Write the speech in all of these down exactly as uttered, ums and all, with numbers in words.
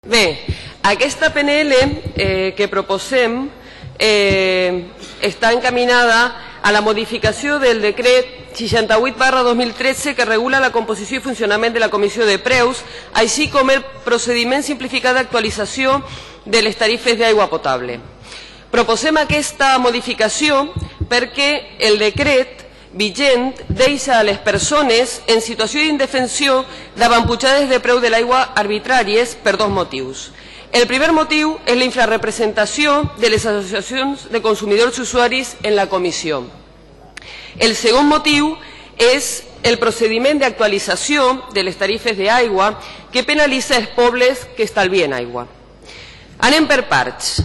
Bé, aquesta P N L eh, que proposem eh, està encaminada a la modificació del decret seixanta-vuit barra dos mil tretze que regula la composició i funcionament de la Comissió de Preus, així com el procediment simplificat d'actualització de les tarifes d'aigua potable. Proposem aquesta modificació perquè el decret vigent deixa a les persones en situació d'indefensió davant pujades de preu de l'aigua arbitràries per dos motius. El primer motiu és la infrarrepresentació de les associacions de consumidors i usuaris en la comissió. El segon motiu és el procediment d'actualització de les tarifes d'aigua que penalitza els pobles que estalvien aigua. Anem per parts.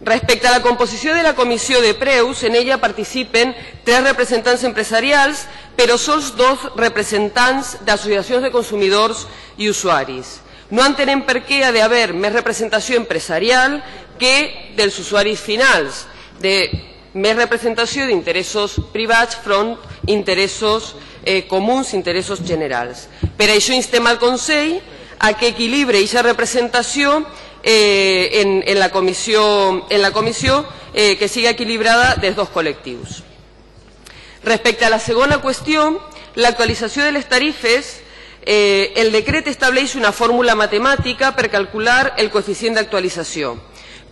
Respecte a la composició de la Comissió de Preus, en ella participen tres representants empresarials, però sols dos representants d'associacions de consumidors i usuaris. No entenem per què ha d'haver més representació empresarial que dels usuaris finals, de més representació d'interessos privats front interessos eh, comuns, interessos generals. Per això instem al Consell a que equilibre aquesta representació Eh, en, en la comissió, en la comissió eh, que siga equilibrada dels dos col·lectius. Respecte a la segona qüestió, l'actualització de les tarifes, eh, el decret estableix una fórmula matemàtica per calcular el coeficient d'actualització.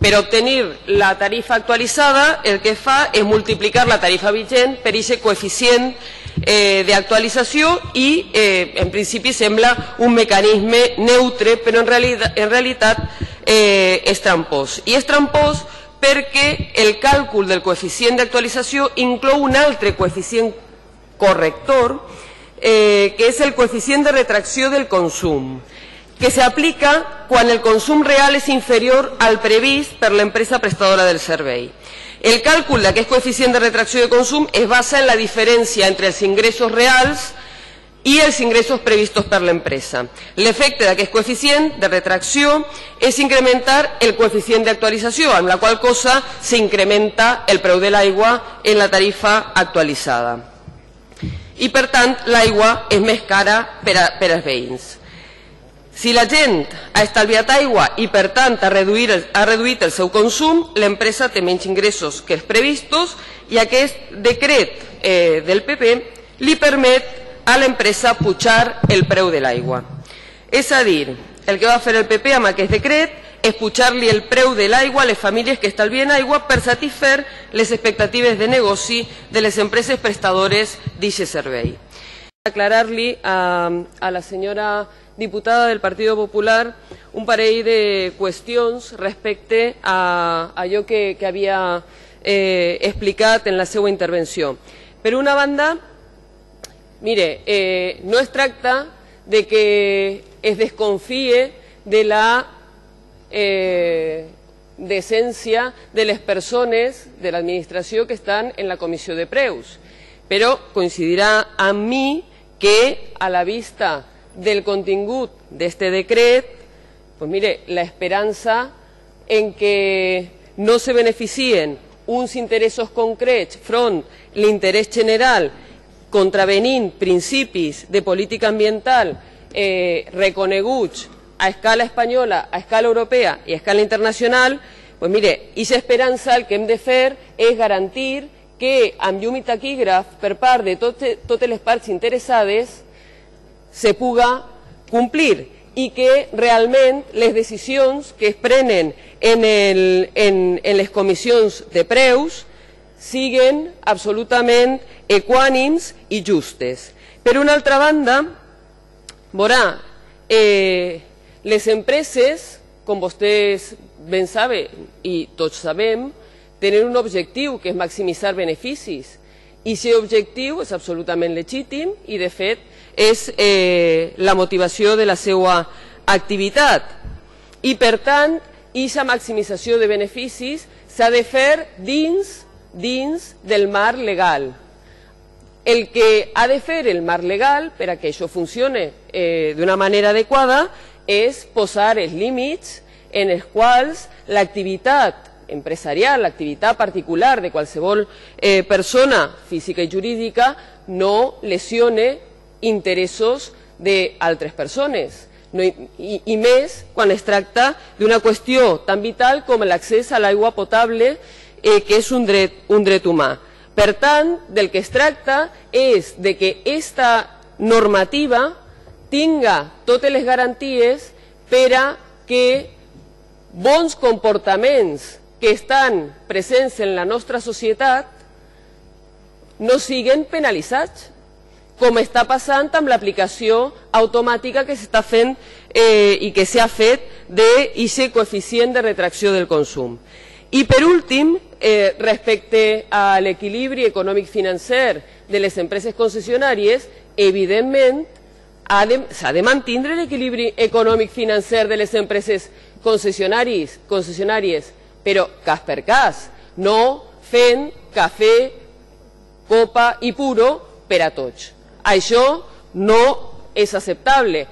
Per obtenir la tarifa actualitzada, el que fa és multiplicar la tarifa vigent per aquest coeficient eh, d'actualització i, eh, en principi, sembla un mecanisme neutre, però en realitat, en realitat eh, és trampós. I és trampós perquè el càlcul del coeficient d'actualització inclou un altre coeficient corrector, eh, que és el coeficient de retracció del consum, que s'aplica quan el consum real és inferior al previst per l'empresa prestadora del servei. El càlcul d'aquest coeficient de retracció de consum es basa en la diferència entre els ingressos reals i els ingressos previstos per l'empresa. L'efecte d'aquest coeficient de retracció és incrementar el coeficient d'actualització, amb la qual cosa s'incrementa el preu de l'aigua en la tarifa actualitzada. I, per tant, l'aigua és més cara per, a, per als veïns. Si la gent ha estalviat aigua i, per tant, ha reduït, el, ha reduït el seu consum, l'empresa té menys ingressos que els previstos i aquest decret eh, del P P li permet a l'empresa pujar el preu de l'aigua. És a dir, el que va fer el P P amb aquest decret és pujar-li el preu de l'aigua a les famílies que estalvien aigua per satisfer les expectatives de negoci de les empreses prestadores d'aquest servei. Aclarar-li a, a la senyora diputada del Partido Popular un parell de qüestions respecte a allò que, que havia eh, explicat en la seva intervenció. Per una banda, mire, eh, no es tracta de que es desconfie de la eh, decència de les persones de l'administració que estan en la Comissió de Preus, però coincidirà amb mi que a la vista del contingut d'este decret, pues mire, la esperança en que no se beneficien uns interessos concrets front l'interès general contravenint principis de política ambiental eh, reconeguts a escala espanyola, a escala europea i a escala internacional, pues mire, aquesta esperança el que hem de fer és garantir que amb llum i taquígraf per part de tot, totes les parts interessades se puga complir i que realment les decisions que es prenen en, el, en, en les comissions de preus siguen absolutament equànims i justes. Per una altra banda, veurà, eh, les empreses, com vostès ben saben i tots sabem, tenen un objectiu que és maximitzar beneficis i aquest objectiu és absolutament legítim i de fet és eh, la motivació de la seva activitat. I per tant, aquesta maximització de beneficis s'ha de fer dins, dins del marc legal. El que ha de fer el marc legal per a que això funcione eh, d'una manera adequada és posar els límits en els quals l'activitat empresarial, l'activitat particular de qualsevol eh, persona física i jurídica no lesione interessos d'altres persones. No, i, i més quan es tracta d'una qüestió tan vital com l'accés a l'aigua potable, eh, que és un dret, un dret humà. Per tant, del que es tracta és de que aquesta normativa tinga totes les garanties per a que bons comportaments que estan presents en la nostra societat no siguin penalitzats, com està passant amb l'aplicació automàtica que s'està fent eh, i que s'ha fet d'aquest coeficient de retracció del consum. I per últim, eh, respecte a l'equilibri econòmic-financer de les empreses concessionàries, evidentment s'ha de mantenir l'equilibri econòmic-financer de les empreses concessionàries, concessionàries, però cas per cas, no fent cafè, copa i puro per a tots. Això no és acceptable.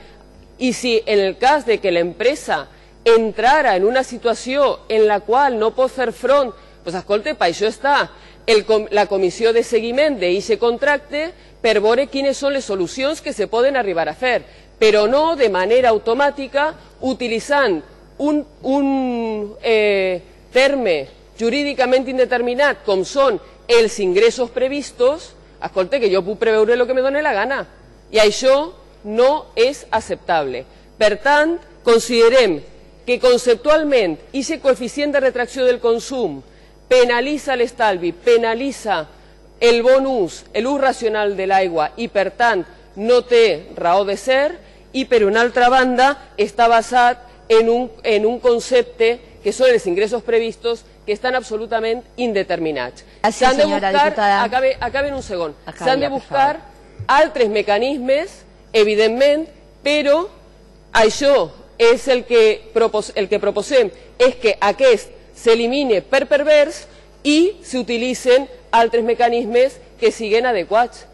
I si en el cas de que l'empresa entrara en una situació en la qual no pot fer front, doncs escolta, per això està el, la comissió de seguiment d'aquest contracte per veure quines són les solucions que se poden arribar a fer, però no de manera automàtica utilitzant un, un eh, terme jurídicament indeterminat com són els ingressos previstos. Escolta, que jo puc preveure el que me doni la gana, i això no és acceptable. Per tant, considerem que conceptualment aquest coeficient de retracció del consum penalitza l'estalvi, penalitza el bon ús, l'ús racional de l'aigua, i per tant no té raó de ser, i per una altra banda està basat en un, en un concepte que són els ingressos previstos, que estan absolutament indeterminats. S'han de buscar, acabe, acabe en un segon, s'han de buscar altres mecanismes, evidentment, però això és el que, propos, el que proposem, és que aquest s'elimine per pervers i s'utilitzen altres mecanismes que siguin adequats.